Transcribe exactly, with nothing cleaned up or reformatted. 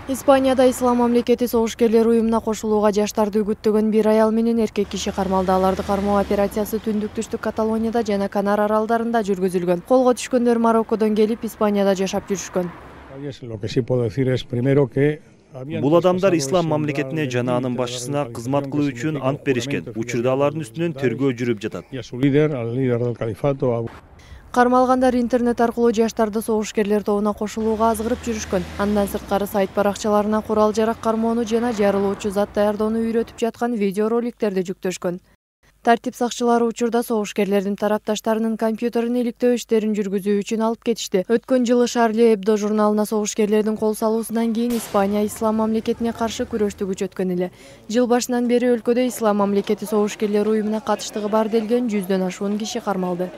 Испанияда Ислам мамлекети согушкерлер уюмуна кошулууга жаштарды үгүттөгөн бир аял менен эркек киши кармалды. Аларды кармоо операциясы түндүк-түштүк Каталонияда жана Канар аралдарында жүргүзүлгөн. Колго түшкөндөр Мароккодон келип, Испанияда жашап жүрүшкөн. Бул адамдар Ислам мамлекетине жана анын башчысына кызмат кылуу үчүн ант беришкен. Учурда алардын үстүнөн тергөө жүрүп жатат. Кармалгандар интернет аркылуу жаштарды согушкерлер тобуна кошулууга азгырып жүрүшкөн. Андан сырткары сайт баракчаларына курал-жарак кармоону жана жарылуучу зат даярдоону үйрөтүп жаткан видеороликтерди жүктөшкөн. Тартип сакчылары учурда согушкерлердин тарапташтарынын компьютерин иликтөө иштерин жүргүзүү үчүн алып кетишти. Өткөн жылы Шарли Эбдо журналына согушкерлердин кол салуусунан кийин Испания Ислам мамлекетине каршы күрөштү күчөткөн эле. Жыл башынан бери өлкөдө Ислам мамлекети согушкерлер уюмуна катыштыгы бар делген жүздөн ашуун киши кармалды.